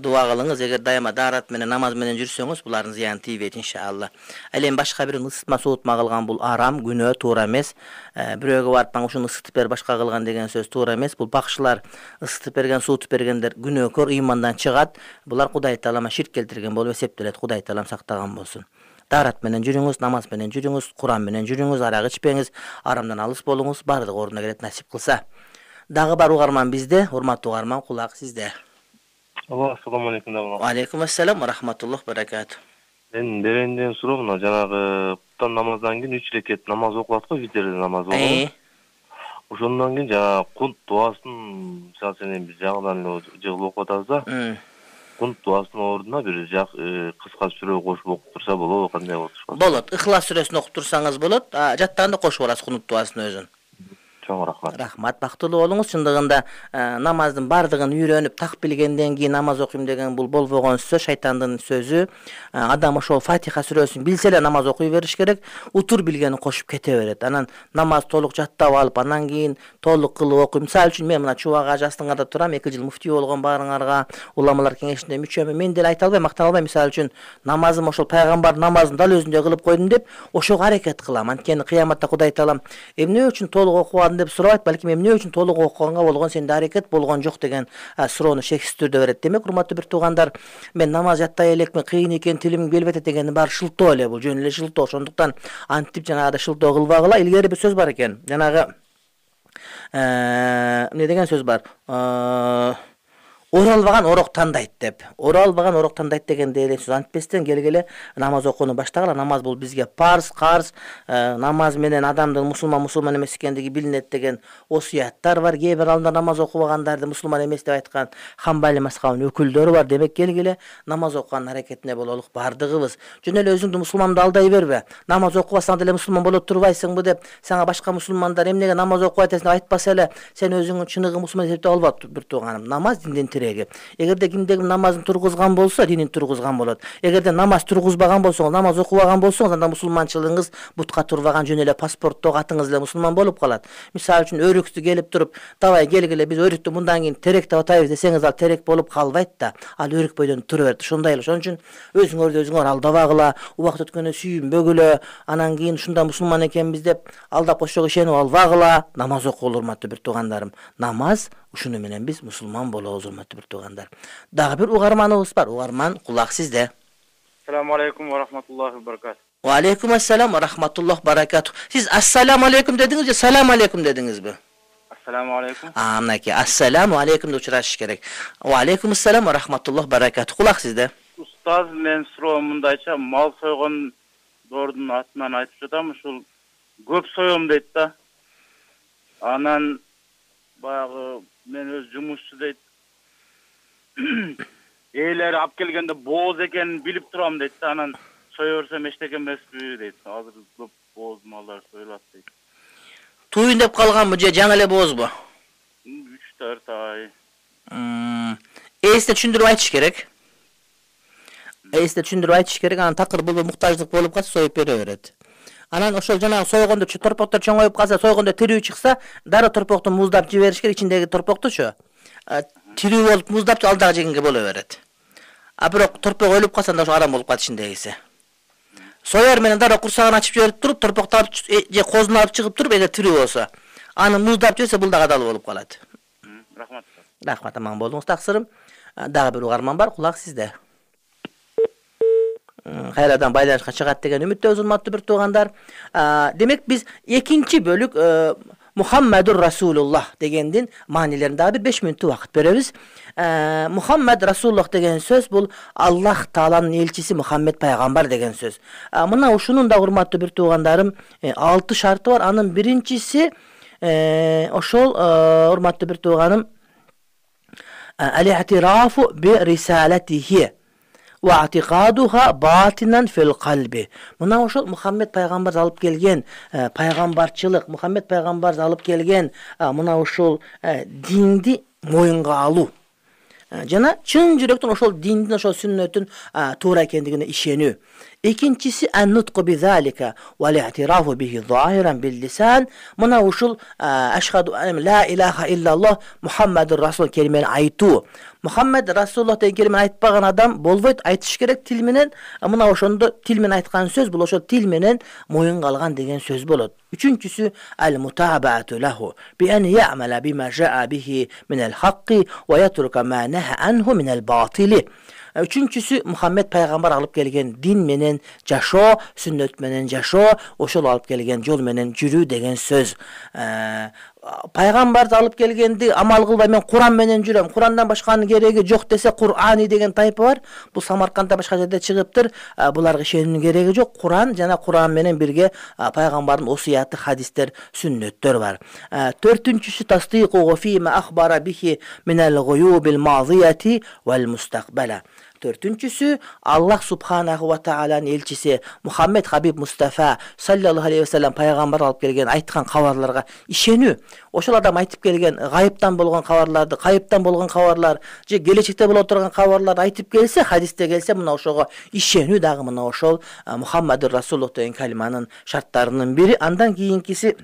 Дуа кылыңыз. Эгер дайыма даарат менен, намаз менен жүрсөңүз, булардын зыяны тийбейт иншалла. Ал эми башка бир ысытма суутма кылган бул арам, күнөө, туура эмес. Бирөөгө барып мага ушуну ысытып бер, башка кылган деген сөз туура эмес. Бул бакшылар ысытып берген, суутуп бергендер күнөөкөр, ыймандан чыгат. Булар Кудай таалама ширк келтирген болуп эсептелет. Кудай таалам сактаган болсун. Даарат менен жүрүңүз, намаз менен жүрүңүз, Куран менен жүрүңүз, арак ичпеңиз, арамдан алыс болуңуз, бардыгы ордуна келет насип кылса. Дагы бар угарман бизде, урматтуу угарман, кулак сизде. Ассаламу алейкум. Ва алейкум ассалам ва рахматуллахи баракату. Мен беренден суроо, мына жанагы куттан намаздан кийин 3 рекет намаз окулат го, витерде намаз болот. Ошондон кийин жана кунт дуасын, мисалы сен бир жагынан эле жыгылып окуп атабыз да. Кунт дуасынын ордуна бир кыска сүрө кошуп окуп турса болобу, кандай болот? Болот. Ихлас сүрөсүн окуп турсаңыз болот. Жаттаганда кошуп аласыз кунут дуасынын өзүн. Чоң рахмат. Рахмат, бактылуу болуңуз. Чындыгында намаздын бардыгын үйрөнүп так билгенден кийин намаз окуйм деген бул болбогон сөз, шайтандын сөзү. Адам ошол Фатиха сүрөсүн билсе эле намаз окуй бериш керек, утур билгенин кошуп кете берет. Анан намаз толук жаттап алып, анан кийин толук кылып окуйм. Мисалы үчүн мен мына Чубак Ажы астыңарда турам, 2 жыл муфтий болгон, баарыңарга уламалар кеңешинде мүчөмүн. Мен деле айта албайм, мактана албайм. Мисалы үчүн намазым ошол пайгамбардын намазын дал өзүндөй кылып койдум деп ошого аракет кылам. Анткени кыяматта Кудай Таалам эмне үчүн толук окубадың деп сурабайт, балким эмне үчүн толук окуганга болгон сенде аракет болгон жок деген суроону шексиз түрдө берет. Демек, урматтуу бир туугандар, мен намаз жаттай элекмин, кыйын экен, тилим келбейт дегени баары шылтоо эле, бул жөн эле шылтоо. Ошондуктан антип жанагыдай шылтоо кылбагыла. Илгери бир сөз бар экен. Жанагы эмне деген сөз бар? Оралбаган орок тандайт деп. Оралбаган орок тандайт дегенде эле сөз антпестен келгеле намаз окууну баштагыла. Намаз бул бизге парз, карз. Намаз менен адамдын мусулман эмес экендиги билинет деген осуяттар бар. Кээ бир алымдар намаз окубагандарды мусулман эмес деп айткан Хамбали мазхабынын өкүлдөрү бар. Демек, келгеле намаз окуган аракетине бололук бардыгыбыз. Жөн эле өзүңдү мусулманды алдай бербе. Намаз окубасаң деле мусулман боло турбайсыңбы деп сага башка мусулмандар эмнеге намаз окубайт деп айтпаса эле сен өзүңдү чыныгы мусулман эсептеп албат, бир тууганым. Намаз диндин тиреги. Эгерде кимдеги намазын тургузган болсо, динин тургузган болот. Эгерде намаз тургузбаган болсоңуз, намаз окубаган болсоңуз, анда мусулманчылыгыңыз бутка турбаган, жөн эле паспорттогу атыңыз эле мусулман болуп калат. Мисалы үчүн өрүктү келип туруп, давай келгиле биз өрүктү мындан кийин терек деп атайбыз десеңиз, ал терек болуп калбайт да. Ал өрүк бойдон тура берет. Ошондой эле. Ошон үчүн өзүңөр алдабагыла, убакыт өткөндө сүйүнбөгүлө, анан кийин ушунда мусулман экенбиз деп алдап ошого ишенип албагыла. Намаз окуулу, урматтуу бир туугандарым. Намаз ушуну менен биз мусулман болобуз, урматтуу бир туугандар. Дагы бир угарманыбыз бар. Угарман, кулак сизде. Ассаламу алейкум ва рахматуллахи ва баракатух. Ва алейкум ассалам ва рахматуллах баракатух. Сиз ассаламу алейкум дедиңиз же салам алейкум дедиңизби? Ассаламу алейкум. Мынакей, ассаламу алейкум деп учурашыш керек. Ва алейкум ассалам ва рахматуллах баракатух. Кулак сизде. Устаз, мен суроом мындайча, мал сойгондордун атынан айтып жатам, ушул көп соём дейт да. Анан баягы мен өз жумушчу дейт. Ээлери алып келгенде бооз экенин билип турам дейт да, анан сое берсем эчтеке эмеспи дейт. Азыр көп бооз малдар союлат дейт. Туюн деп калганбы же жаңы эле боозбу? 3-4 ай. Эсте түшүндүрүп айтыш керек. Анан такыр бул муктаждык болуп калса союп бере берет. Анан ошол жанагы сойгондо торпоктор чоңоюп калса, сойгондо тирүү чыкса, дароо торпокту муздап жибериш керек, ичиндеги торпоктучу. Тирүү болуп муздап ал дагы жегенге боло берет. А бирок торпок өлүп калса, анда ошо арам болуп калат ичиндегиси. Соер менен дароо курсагын ачып жиберип туруп, торпокту алып же козуну алып чыгып туруп, эгер тирүү болсо, аны муздап жиберсе, бул дагы адал болуп калат. Рахмат. Рахмат, аман болуңуз, таксырым. Дагы бир угарман бар, кулак сизде. Кайрадан байланышка чыгат деген үмүттөбүз, урматтуу бир туугандар. Демек, биз экинчи бөлүк Мухаммадур Расулуллах дегендин маанилерин дагы бир 5 мүнөттүк убакыт беребиз. Мухаммад Расулуллах деген сөз бул Аллах Тааланын элчиси Мухаммед пайгамбар деген сөз. Мына ушунун да, урматтуу бир туугандарым, 6 шарты бар. Анын биринчиси ошол, урматтуу бир тууганым, ал-i'тирафу би рисалатихи ва атиқадуха батинан фил қалби. Мына ошол Мухаммед пайгамбар алып келген пайгамбарчылык, Мухаммед пайгамбар алып келген мына ошол динди моюнга алуу. Жана чын жүрөктөн ошол диндин, ошол сүннөтүн туура экендигине ишенүү. Экинчиси ан-нутqu bi-zalika wal-i'tirafu bihi zahiran bil-lisan. Мына ушул ашхаду ла илаха иллаллах Мухаммадур Расул келимени айтуу. Мухаммад Расулуллах деген келимени айтпаган адам болбойт, айтыш керек тил менен. Мына ошондо тил менен айткан сөз бул ошол тил менен моюнга алган деген сөз болот. Үчүнчүсү ал-мутабаату лаху би ан ya'mala bima ja'a bihi min al-haqqi wa yatruka ma naha anhu min al-batili. Үчүнчүсү Мухаммед пайгамбар алып келген дин менен жашоо, сүннөт менен жашоо, ошол алып келген жол менен жүрүү деген сөз. Пайгамбар алып келгенди амал кылбай мен Куран менен жүрөм, Курандан башканын кереги жок десе Кур'ани деген тайпы бар. Бул Самаркандда башка жерде чыгыптыр. Буларга ишенүүнүн кереги жок. Куран жана Куран менен бирге пайгамбардын осуяты, хадистер, сүннөттөр бар. Төртүнчүсү тасдиқу фима ахбара бихи минал гуюбил мазияти вал мустaqbala. Төртүнчүсү Аллах субханаху ва тааlanын элчиси Мухаммед Хабиб Мустафа саллаллаху алейхи вассалам пайгамбар алып келген айткан кабарларга ишенүү. Ошол адам айтып келген гайыптан болгон кабарларды, кайыптан болгон кабарлар же келечекте боло турган кабарларды айтып келсе, хадисте келсе, мына ошого ишенүү дагы мына ошол Мухаммадур Расулуллах деген калиманын шарттарынын бири. Андан кийинкиси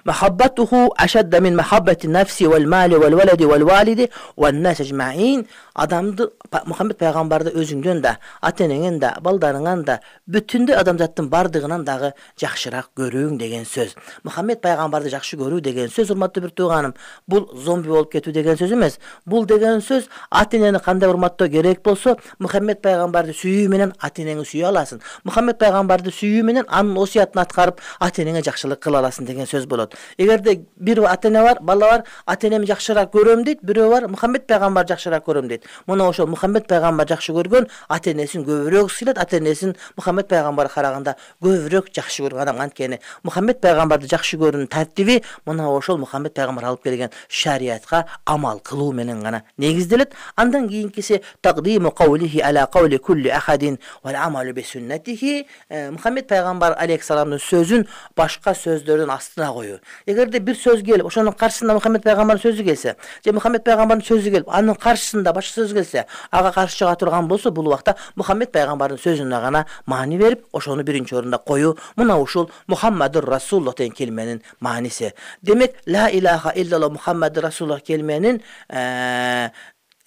محبته أشد من محبة النفس والمال والولد والوالد والناس أجمعين. Adamды Muhammed пайгамбарды өзүңдөн да, ата-энеңден да, балдарыңан да, бүтүндө адамзаттын бардыгынан дагы жакшыраак көрүүң деген сөз. Muhammed пайгамбарды жакшы көрүү деген сөз, урматтуу бир тууганым, бул зомби болуп кетүү деген сөз эмес. Бул деген сөз ата-энени кандай урматтоо керек болсо, Muhammed пайгамбарды сүйүү менен ата-энеңи сүйө аласың. Muhammed пайгамбарды сүйүү менен анын осуятын аткарып, ата-энеңе жакшылык кыла аласың деген сөз болот. Эгерде бир ата-эне бар, бала бар, ата-энеми жакшыраак көрөм дейт, бирөө бар, Muhammed пайгамбар жакшыраак көрөм дейт. Мына ошол Muhammed пайгамбар жакшы көргөн ата-энесин көбүрөөк сыйлат, ата-энесин Muhammed пайгамбарга караганда көбүрөөк жакшы көргөн адам. Анткени Muhammed пайгамбарды жакшы көрүүнүн тартиби мына ошол Muhammed пайгамбар алып келген шариятка амал кылуу менен гана негизделет. Андан кийинкиси тaqdimu qawlihi ala qawli kulli ahadin wal amalu bi sunnatihi. Muhammed пайгамбар алейхиссаламдын сөзүн башка сөздөрдүн астына коюу. Эгерде бир сөз келип, ошонун каршысында Muhammed пайгамбардын сөзү келсе, же Muhammed пайгамбардын сөзү келип, анын каршысында башка сөз келсе, ага каршы чыга турган болсо, бул убакта Muhammed пайгамбардын сөзүнө гана маани берип, ошону биринчи орунда коюу. Мына ушул Muhammadur Rasulullah деген келменин мааниси. Демек, ла илаха иллаллах Muhammadur Rasulullah келменин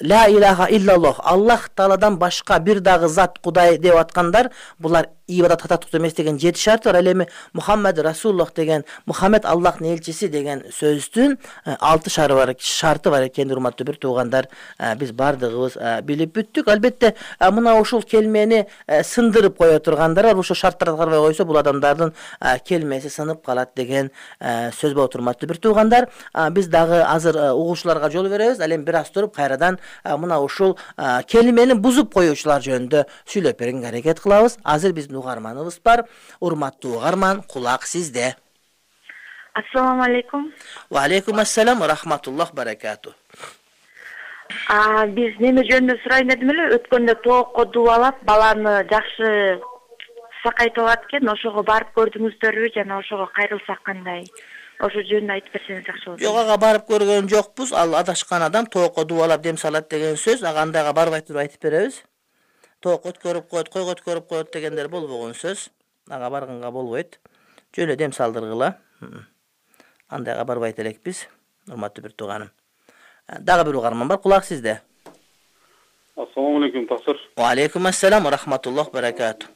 ла илаха иллаллах Аллах Тааладан башка бир дагы зат Кудай деп аткандар, булар ибадат татыктуу эмес деген 7 шарты бар. Ал эми Мухаммад Расулуллах деген, Мухаммед Аллахтын элчиси деген сөздүн 6 шарты бар экен. Урматтуу бир туугандар, биз бардыгыбыз билип бүттүк. Албетте, мына ушул келмени сындырып кое тургандар бар. Ушул шарттарды аткарбай койсо, бул адамдардын келмеси сынып калат деген сөз болот. Урматтуу бир туугандар, биз дагы азыр угуучуларга жол беребиз. Ал эми бир аз туруп кайрадан мына ушул келмени бузуп коюучулар жөнүндө сүйлөп бергенге аракет кылабыз. Азыр биздин угарманыбыз бар. Урматтуу угарман, кулак сизде. Ассаламу алейкум. Ва алейкум ассалам ва рахматуллах баракату. Биз неме жөнүндө сурайын дедим эле, өткөндө тоокко дубалап баланы жакшы сакайтып алат экен. Ошого барып көрдүңүздөрбү жана ошого кайрылсак кандай? Ошо жөнүндө айтып берсеңиз жакшы болот. Жок, ага барып көргөн жокпуз. Ал адашкан адам тоокко дубалап дем салат деген сөз. Ага андайга барбай туруп айтып беребиз. Тоок өткөрүп коет, койго өткөрүп коет дегендер болбогон сөз. Ага барганга болбойт. Жөн эле дем салдыргыла. Андайга барбайт элекпиз. Урматтуу бир тууганым. Дагы бир угарман бар, кулак сизде. Ассаламу алейкум, таксир. Ва алейкум ассалам ва рахматуллах баракату.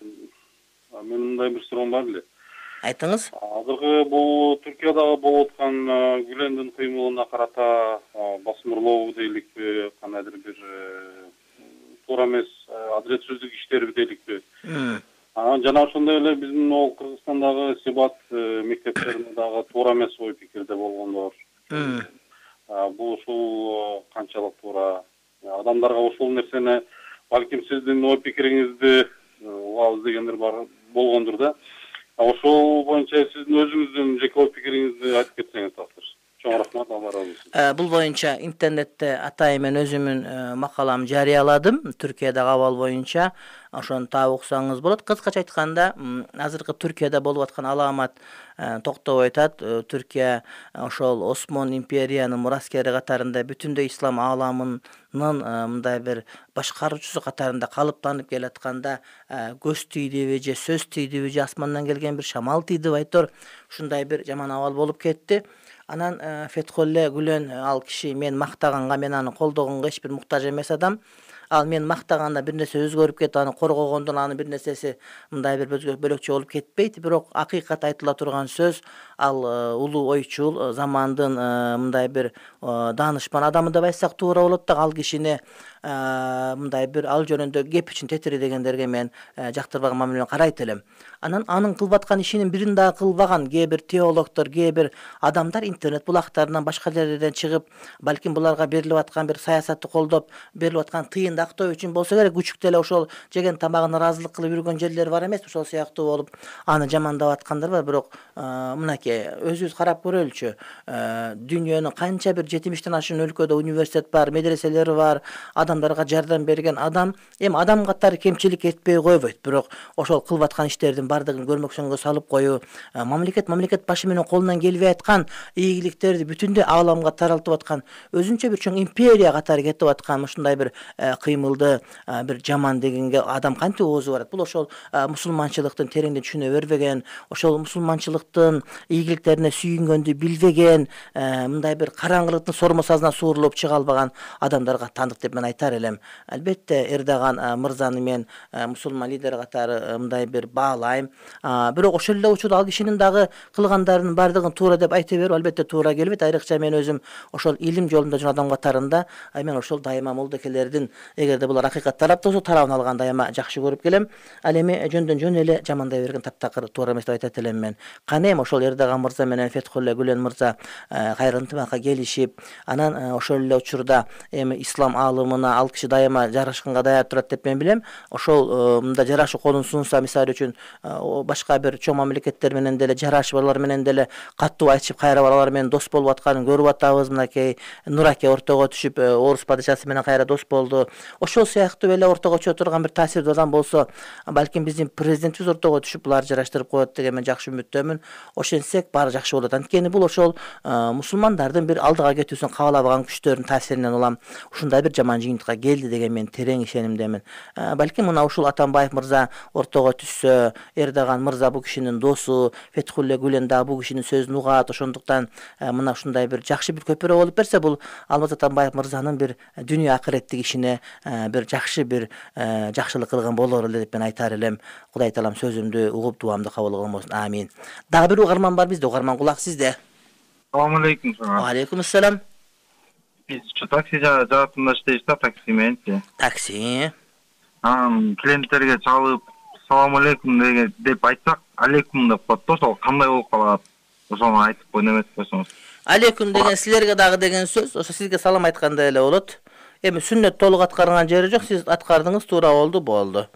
Мен мындай бир суроом бар эле. Айтыңыз. Азыркы бул Түркиядагы болуп аткан Гүлендин кыймылына карата басмырлоо дейликпи, кандайдыр бир туура эмес адилетсиздик иштери дейликпи. Жана ошондой эле биздин могул Кыргызстандагы Сибат мектептеринде дагы туура эмес ой пикирде болгондор. Бул ушул канчалык туура? Адамдарга ушул нерсени, балким сиздин ой пикириңизди угабыз дегендер бар болгондур да. Ошол боюнча сиздин өзүңүздүн жеке ой пикириңизди айтып кетсеңиз таксир. Чоң рахмат, Алла разы болсун. Бул боюнча интернетте атайын мен өзүмүн макаламды жарыяладым. Түркиядагы абал боюнча ошону таап уксаңыз болот. Кыскача айтканда, азыркы Түркияда болуп аткан аламат токтобой атат. Түркия ошол Осмон империянын мураскери катарында бүтүндөй ислам ааламынын мындай бир башкаруучусу катарында калыптанып келатканда көз тийдиби же сөз тийдиби же асмандан келген бир шамал тийдиби айтор, ушундай бир жаман абал болуп кетти. Анан Фетхулле Гүлен ал киши мен мактаганга, мен аны колдогонго эч бир муктаж эмес адам. Ал мен мактаганда бир нерсе өзгөрүп кетип, аны коргогондон анын бир нерсеси мындай бир бөлөкчө болуп кетпейт. Бирок акыйкат айтыла турган сөз, ал улуу ойчул, замандын мындай бир даанышман адамы деп айтсак туура болот да. Ал кишини мындай бир ал жөнүндө кеп үчүн тетири дегендерге мен жактырбаган мамиле менен карайт элем. Анан анын кылып аткан ишинин бирин дагы кылбаган кээ бир теологдор, кээ бир адамдар интернет булактарынан башка жерлерден чыгып, балким буларга берилип аткан бир саясатты колдоп, берилип аткан тыйындар дегенде актоо үчүн болсо керек, күчүктө эле ошол жеген тамагына ыраазылык кылып жүргөн жерлер бар эмес, ошол сыяктуу болуп аны жамандап аткандар бар. Бирок мынакей өзүбүз карап көрөлүчү. Дүйнөнүн канча бир 70тен ашуун өлкөдө университет бар, медреселери бар, адамдарга жардам берген адам эми адам катары кемчилик этпей койбойт. Бирок ошол кылып аткан иштердин бардыгын көрмөксөнгө салып коюу, мамлекет башы менен колунан келбей аткан ийгиликтерди бүтүндөй ааламга таралтып аткан, өзүнчө бир чоң империя катары кетип аткан ушундай бир кыймылды бир жаман дегенге адам кантип оозу барат? Бул ошол мусулманчылыктын тереңден түшүнө бербеген, ошол мусулманчылыктын ийгиликтерине сүйүнгөндү билбеген, мындай бир караңгылыктын сормосазына суурулуп чыга албаган адамдарга тандык деп мен айтар элем. Албетте Эрдоган мырзаны мен мусулман лидер катары мындай бир баалайм. Бирок ошол эле учурда ал кишинин дагы кылгандарынын бардыгын туура деп айта берүү албетте туура келбейт. Айрыкча мен өзүм ошол илим жолунда жүргөн адам катарында мен ошол дайыма молдокелердин эгерде булар акыйкат тарапта болсо тарабын алган дайыма жакшы көрүп келем. Ал эми жөндөн жөн эле жамандай берген таптакыр туура эмес деп айтат элем мен. Кане эми ошол Эрдоган мырза менен Фетхулле Гүлен мырза кайра ынтымакка келишип, анан ошол эле учурда эми ислам аалымына ал киши дайыма жарашканга даяр турат деп мен билем. Ошол мында жарашуу колун сунса, мисалы үчүн башка бир чоң мамлекеттер менен деле жарашып, алар менен деле каттуу айтышып, кайра алар менен дос болуп атканын көрүп атабыз. Мынакей Нураке ортого түшүп, орус падышасы менен кайра дос болду. Ошол сыяктуу эле ортого чыга турган бир таасирдүү адам болсо, балким биздин президентибиз ортого түшүп булар жараштырып коет деген мен жакшы үмүттөмүн. Ошентсек баары жакшы болот. Анткени бул ошол мусулмандардын бир алдыга кетүүсүн каалабаган күчтөрдүн таасиринен улам ушундай бир жаман жыйынтыкка келди деген мен терең ишенимдемин. Балким мына ушул Атамбаев мырза ортого түшсө, Эрдоган мырза бул кишинин досу, Фетхулле Гүлен да бул кишинин сөзүн угат. Ошондуктан мына ушундай бир жакшы бир көпүрө болуп берсе, бул Алмаз Атамбаев мырзанын бир дүйнө акыреттик ишине бир жакшы бир жакшылык кылган болор эле деп мен айтар элем. Кудай таалам сөзүмдү угуп дуамды кабыл кылмасын. Амин. Дагы бир угарман бар бизде. Угарман кулак сизде. Салам алейкум. Алейкум ассалам. Биз такси жаатында иштейбиз да, таксименчи. Такси. Клиенттерге чалып салам алейкум деп айтсак, алейкум деп коет да, ошол кандай болуп калат? Ошону айтып койно эмес койсоңуз. Алейкум деген силерге дагы деген сөз, ошо сизге салам айткандай эле болот. Эми сүннөт толук аткарган жери жок, сиз аткардыңыз, туура болду.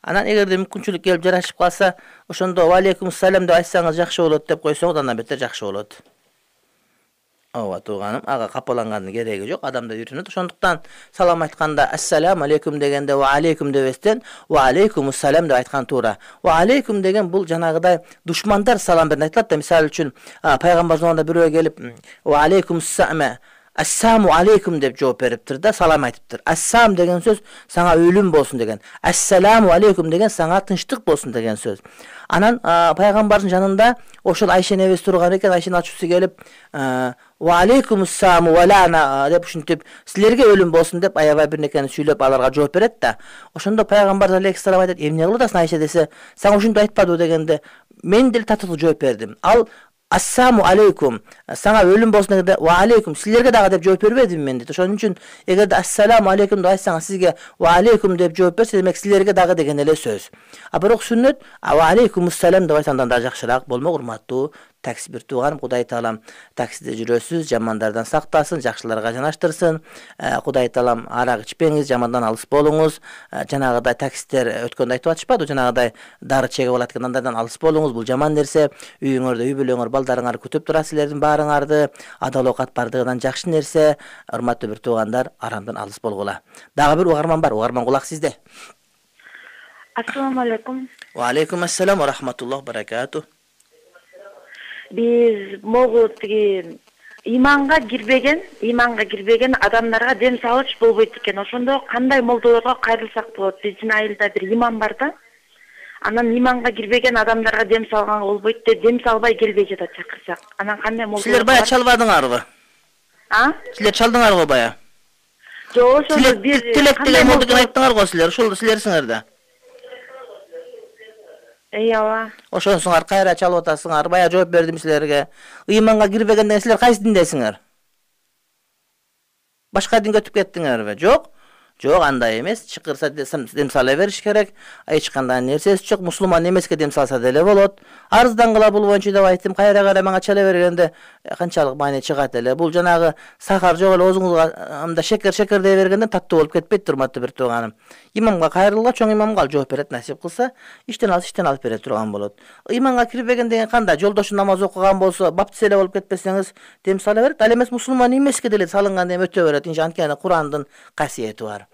Анан эгерде мүмкүнчүлүк келип жарашып калса, ошондо ва алейкум салам деп айтсаңыз жакшы болот деп койсоңуз, андан бетер жакшы болот. Ооба тууганым, ага капалангандын кереги жок, адамдар үйрөнөт. Ошондуктан салам айтканда ассаламу алейкум дегенде ва алейкум дебестен ва алейкумус салам деп айткан туура. Ва алейкум деген бул жанагыдай душмандар салам берген айтылат да. Мисалы үчүн пайгамбар заманында бирөө келип ва алейкумус сама ассаму алейкум деп жооп бериптир да, салам айтыптыр. Ассам деген сөз сага өлүм болсун деген. Ассаламу алейкум деген сага тынчтык болсун деген сөз. Анан пайгамбардын жанында ошол Айша небес турган экен, Айшанын ачуусу келип ва алейкумуссаму ва лана деп ушинтип силерге өлүм болсун деп аябай бир нерсени сүйлөп аларга жооп берет да. Ошондо пайгамбар алейхиссалам айтат: "Эмне кылып атасың Айша?" десе, "Сага ушинтип айтпадыбы?" дегенде, мен деле татыктуу жооп бердим. Ал ассаму алейкум сага өлүм болсун дегенде ва алейкум силерге дагы деп жооп бербедимби мен дейт. Ошон үчүн эгерде ассаламу алейкум деп айтсаңыз, сизге ва алейкум деп жооп берсе, демек силерге дагы деген эле сөз. Бирок сүннөт ва алейкумуссалам деп айтсаңдан да жакшыраак болмок. Урматтуу такси бир тууганым, Кудай таалам таксиде жүрөсүз, жамандардан сактасын, жакшыларга жанаштырсын. Кудай таалам арак ичпеңиз, жамандан алыс болуңуз. Жанагыдай таксистер өткөндө айтып атышпадыбы, жанагыдай дары чегип алат экен, андардан алыс болуңуз. Бул жаман нерсе. Үйүңөрдө үй бүлөңөр, балдарыңар күтүп турат силердин баарыңарды. Адал оокат бардыгынан жакшы нерсе. Урматтуу бир туугандар, арамдан алыс болгула. Дагы бир угарман бар. Угарман кулак сизде. Ассаламу алейкум. Ва алейкум ассалам ва рахматуллах баракату. Биз могу тиги иманга кирбеген адамдарга дем салыш болбойт экен. Ошондо кандай молдолорго кайрылсак болот? Биздин айылда бир имам бар да. Анан иманга кирбеген адамдарга дем салганга болбойт деп дем салбай келбей жатат чакырсак. Анан кандай молдолор? Силер бая чалбадыңарбы? Силер чалдыңарбы бая? Жок, ошондо бир тилек деген молдоген айттыңар го силер. Ошол силерсиңер да. Ооба. Ошонсуңар кайра чалып атасыңар. Бая жооп бердим силерге. Ыйманга кирбеген деген силер кайсы диндесиңер? Башка динге өтүп кеттиңерби? Жок. Жок, андай эмес. Чакырса дем сала бериш керек. Эч кандай нерсеси жок. Мусулман эмеске дем салса деле болот. Арыздангыла бул боюнча деп айттым. Кайра мага чала бергенде канчалык маани чыгат эле. Бул жанагы сахар жок эле өзүңүзгө анда шекер дей бергенде таттуу болуп кетпейт, урматтуу бир тууганым. Имамга кайрылга, чоң имамга жооп берет, насип кылса, иштен алып бере турган болот. Имамга кирбеген деген кандай? Жолдошу намаз окуган болсо, баптист эле болуп кетпесеңиз, дем сала берет. Ал эмес мусулман эмеске деле салынган дем өтө берет. Анткени Курандын касиети бар.